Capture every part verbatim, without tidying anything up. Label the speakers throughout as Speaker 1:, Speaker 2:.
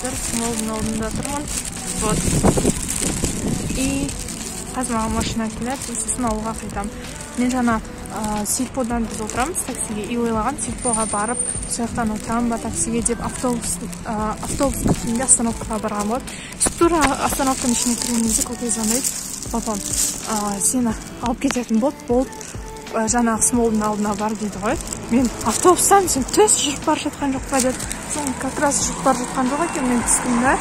Speaker 1: қазір смолдың алдында тұрмын. Вот. И қазір маған машина келеді, сосын ауылға қайтамын. Мен жаңа Сильподан біз отырамыз таксиге, и ойлаған Сильпоға барып, сояқтан отырам ба таксиге деп автобус автобус күтімде остановкаға барған болады. Тура остановканың ішіне кірген кезде көке звондайды, папам сені алып кететін болды, болды жаңағы смолдың алдына бар дейді ғой. Мен автобустан сен төс жүріп бара жатқан жоқ па деді. Соң как раз жүріп бара жатқан жоқ екен, мен түстім да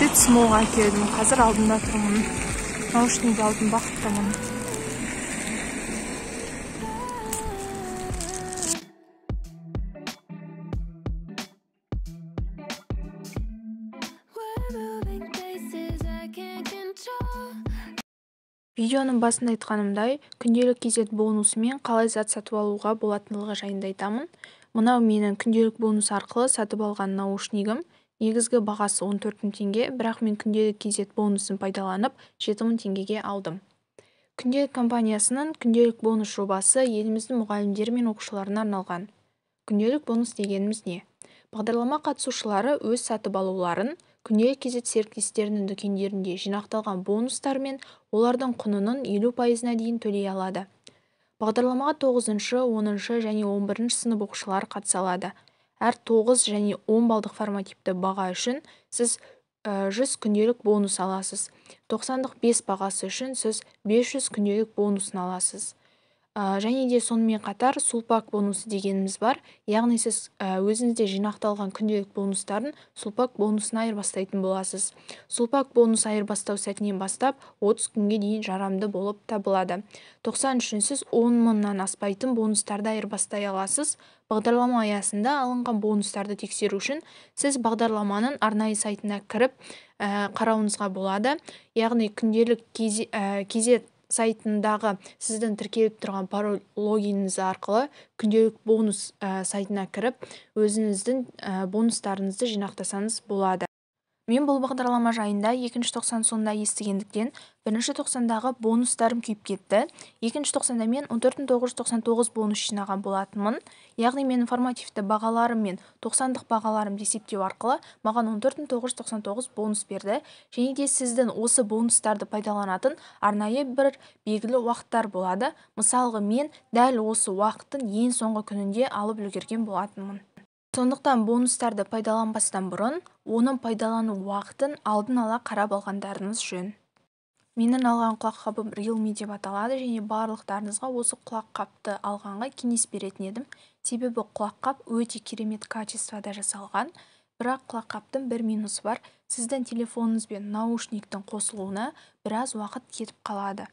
Speaker 1: сөйтіп смолға келдім. Қазір алдында тұрмын, наушник алдым, бақыттымын. Видеоның басында айтқанымдай, күнделік кезет бонусымен қалай зат сатып алуға болатындығы жайында айтамын. Мынау менің күнделік бонус арқылы сатып алған наушнигім. Негізгі бағасы он төрт мың теңге, бірақ мен күнделік кезет бонусын пайдаланып жеті мың теңгеге алдым. Күнделік компаниясының күнделік бонус жобасы еліміздің мұғалімдері мен оқушыларына арналған. Күнделік бонус дегеніміз не? Бағдарлама қатысушылары өз сатып алуларын күнделік кезет серіктестерінің дүкендерінде жинақталған бонустар мен олардың құнының елу пайызына дейін төлей алады. Бағдарламаға тоғызыншы, оныншы және он бірінші сынып оқушылары қатыса алады. Әр тоғыз және он балдық формативті баға үшін сіз жүз күнделік бонус аласыз. тоқсандық бес бағасы үшін сіз бес жүз күнделік бонусын аласыз. Және де сонымен қатар сулпак бонусы дегеніміз бар. Яғни сіз өзіңізде жинақталған күнделік бонустарын сулпак бонусына айырбастайтын боласыз. Сулпак бонус айырбастау сәтінен бастап отыз күнге дейін жарамды болып табылады. тоқсан үшін сіз он мыңнан аспайтын бонустарды айырбастай аласыз. Бағдарлама аясында алынған бонустарды тексеру үшін сіз бағдарламаның арнайы сайтына кіріп қарауыңызға болады. Яғни күнделік кезет сайтындағы сіздің тіркеліп тұрған пароль логиніңіз арқылы күнделік бонус сайтына кіріп, өзіңіздің бонустарыңызды жинақтасаңыз болады. Мен бұл бағдарлама жайында екінші тоқсан соңында естігендіктен, бірінші тоқсандағы бонустарым күйіп кетті. екінші тоқсанда мен он төрт мың тоғыз жүз тоқсан тоғыз бонус жинаған болатынмын. Яғни менің формативті бағаларым мен тоқсандық бағаларымды есептеу арқылы маған он төрт мың тоғыз жүз тоқсан тоғыз бонус берді. Және де сіздің осы бонустарды пайдаланатын арнайы бір белгілі уақыттар болады. Мысалға, мен дәл осы уақыттың ең соңғы күнінде алып үлгерген болатынмын. Сондықтан бонустарды пайдаланбастан бұрын, оның пайдалану уақытын алдын ала қарап алғандарыңыз жөн. Менің алған құлаққабым Realme деп аталады және барлықтарыңызға осы құлаққапты алғанға кеңес беретін едім. Себебі құлаққап өте керемет качествода жасалған. Бірақ құлаққаптың бір минусы бар. Сіздің телефоныңыз бен наушниктің қосылуына біраз уақыт кетіп қалады.